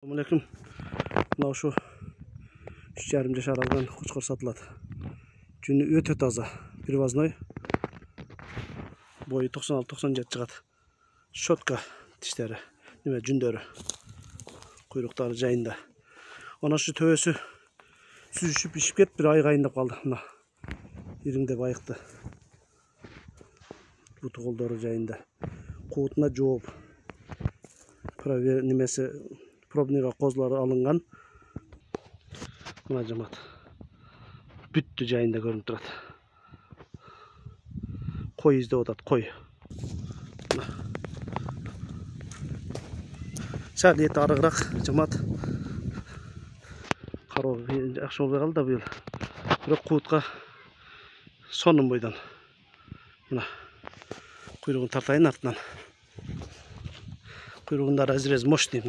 Assalamualaikum. Мына ушу 3,5 жаш аралган кочкор сатылат. Жүнү өтө таза, привозной. Бою 96-97 чыгат. Щетка тиштери, неме жүндөрү, куйруктары жайында. Ana şu töbөсү сүзүшүп ишип кетип, bir ай кайындап калды. Мына ириңдеп айыкты. Буту колдору жайында. Куутуна жооп. Немеси пробныйга козулары алынган. Мына жамат. Бүттү жайында көрүнүп турат. Кой издеп атат, кой. Сәл эти арыгыраак жамат. Кароо жакшы болбой калды да быйыл. Бирок куутка сонун бойдон. Мына куйругун тартайын артынан. Куйругунда разрез мощный.